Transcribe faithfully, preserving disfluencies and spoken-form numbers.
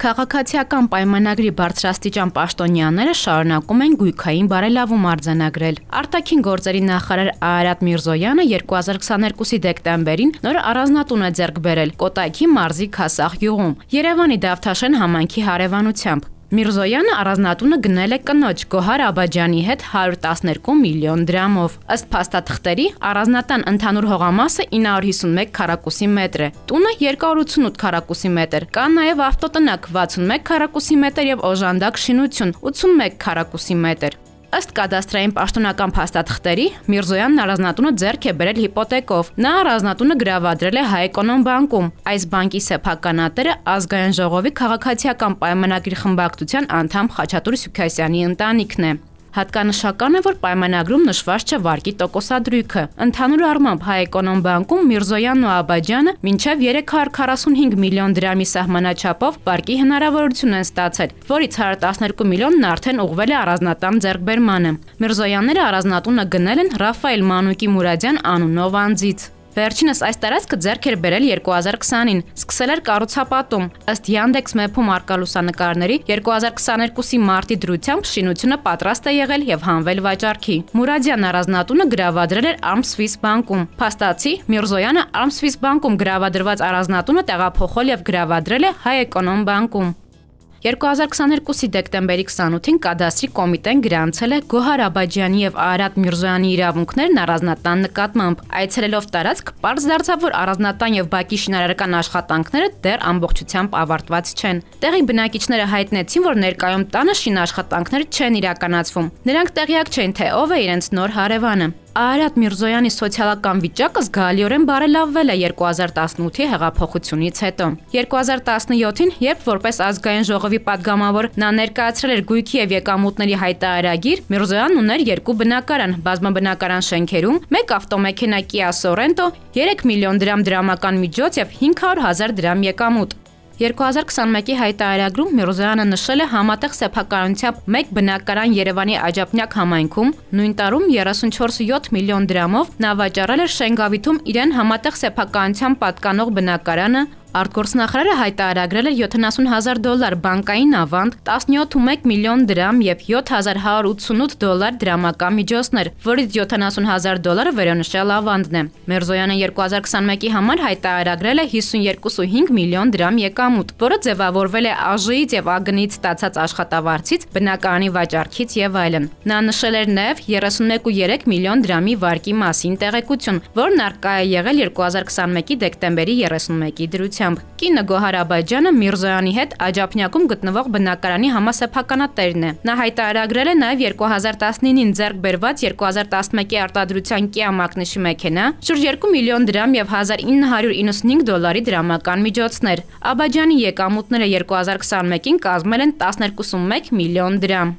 Քաղաքացիական պայմանագրի բարձրաստիճան պաշտոնյաները շարունակում են գույքային բարելավում արձանագրել։ Արտաքին գործերի նախարար Արարատ Միրզոյանը երկու հազար քսաներկուսի դեկտեմբերին նոր առանձնատուն է ձեռք բերել Կոտայքի մարզի Քասախ գյուղում, Երևանի Դավթաշեն համայնքի հարևանությամբ։ Միրզոյանը առանձնատունը գնել է կնոջ Գոհար Աբաջյանի հետ հարյուր տասներկու միլիոն դրամով։ Ըստ փաստաթղթերի, առանձնատան ընդհանուր հողամասը ինը հարյուր հիսունմեկ քառակուսի մետր է, տունը երկու հարյուր ութսունութ քառակուսի մետր, կան նաև ավտոտնակ վաթսունմեկ քառակուսի մետր եւ օժանդակ շինություն ութսունմեկ քառակուսի մետր։ Ըստ կադաստրային պաշտոնական փաստաթղթերի, Միրզոյանն առանձնատունը ձեռք է բերել հիպոթեկով։ Նա առանձնատունը գրավադրել է Հայ-Էկոնոմ բանկում։ Այս բանկի սեփականատերը Ազգային ժողովի քաղաքացիական պայմանագրի խմբակցության անդամ Խաչատուր Սուքասյանի ընտանիքն է։ Հատկանշական է, որ պայմանագրում նշված չէ վարկի տոկոսադրույքը։ Ընդհանուր առմամբ Հայ-Էկոնոմ բանկում Միրզոյանն ու Աբաջյանը մինչև երեք հարյուր քառասունհինգ միլիոն դրամի սահմանաչափով վարկի հնարավորություն են ստացել, որից հարյուր տասներկու միլիոնն արդեն ուղղվել է առանձնատան ձեռքբերմանը։ Միրզոյանները առանձնատունը գնել են Ռաֆայել Մանուկի Մուրադյան անունով անձից։ Վերջինս այս տարածքը ձեռք էր բերել երկու հազար քսանին, սկսել էր կառուցապատում։ Ըստ Yandex Map-ում առկա լուսանկարների, երկու հազար քսաներկուսի մարտի դրությամբ շինությունը պատրաստ է եղել եւ հանվել վաճառքի։ Մուրադյան առանձնատունը գրավադրել էր Arm Swiss բանկում։ Փաստացի Միրզոյանը Arm Swiss բանկում գրավադրված առանձնատունը տեղափոխել եւ գրավադրել է Հայ-Էկոնոմ բանկում։ երկու հազար քսաներկուսի դեկտեմբերի քսանութին կադաստրի կոմիտեն գրանցել է Գոհար Աբաջյանի եւ Արարատ Միրզոյանի իրավունքներն առանձնատան նկատմամբ։ Այցելելով տարածք, պարզ դարձավ, որ առանձնատան եւ բակի շինարարական աշխատանքները դեռ ամբողջությամբ ավարտված չեն։ Տեղի բնակիչները հայտնեցին, որ ներկայում տանը շինաշխատանքներ չեն իրականացվում։ Նրանք տեղյակ չեն, թե ով է իրենց նոր հարևանը։ Արարատ Միրզոյանի սոցիալական վիճակը զգալիորեն բարելավվել է երկու հազար տասնութի հեղափոխությունից հետո։ երկու հազար տասնյոթին, երբ որպես ազգային ժողովի падգամավոր նա ներկայացրել էր գույքի եւ եկամուտների հայտարարագիր, Միրզոյանն ուներ երկու բնակարան, բազմաբնակարան շենքերում, մեկ ավտոմեքենա Kia Sorento, երեք միլիոն դրամ դրամական միջոց եւ հինգ հարյուր հազար դրամ եկամուտ։ երկու հազար քսանմեկի հայտարարագրում Միրզոյանը նշել է համատեղ սեփականությամբ մեկ բնակարան Երևանի Աջափնյակ համայնքում, նույն տարում երեսունչորս կόμμα յոթ միլիոն դրամով նա վաճառել էր Շենգավիթում իրեն համատեղ սեփականությամբ պատկանող բնակարանը։ Արտգործնախարարը հայտարարել էր յոթանասուն հազար դոլար բանկային ավանդ, տասնյոթ կόμma մեկ միլիոն դրամ եւ յոթ հազար հարյուր ութսունութ դոլար դրամական միջոցներ, որից յոթանասուն հազար դոլարը վերոնշյալ ավանդն է։ Միրզոյանը երկու հազար քսանմեկի համար հայտարարել է հիսունյոթ կόμma հինգ միլիոն դրամ եկամուտ, որը ձևավորվել է ԱԺ-ից եւ ԱԳՆ-ից ստացած աշխատավարձից, բնակարանի վաճառքից եւ այլն։ Նա նշել էր նաեւ երեսունմեկ կόμma երեք միլիոն դրամի վարկի մասին տեղեկություն, որն արկա է եղել երկու հազար քսանմեկի դեկտեմբերի երեսունմեկի դրությամբ։ Կինը Գոհար Աբաջյանը Միրզոյանի հետ Աջափնյակում գտնվող բնակարանի համասեփականատերն է։ Նա հայտարարել է նաև երկու հազար տասնինին ձեռք բերված երկու հազար տասնմեկի արտադրության Kia մակնիշի մեքենա, շուրջ երկու միլիոն դրամ եւ հազար ինը հարյուր իննսունհինգ դոլարի դրամական միջոցներ։ Աբաջյանի եկամուտները երկու հազար քսանմեկին կազմել են տասներկու կόμma մեկ միլիոն դրամ։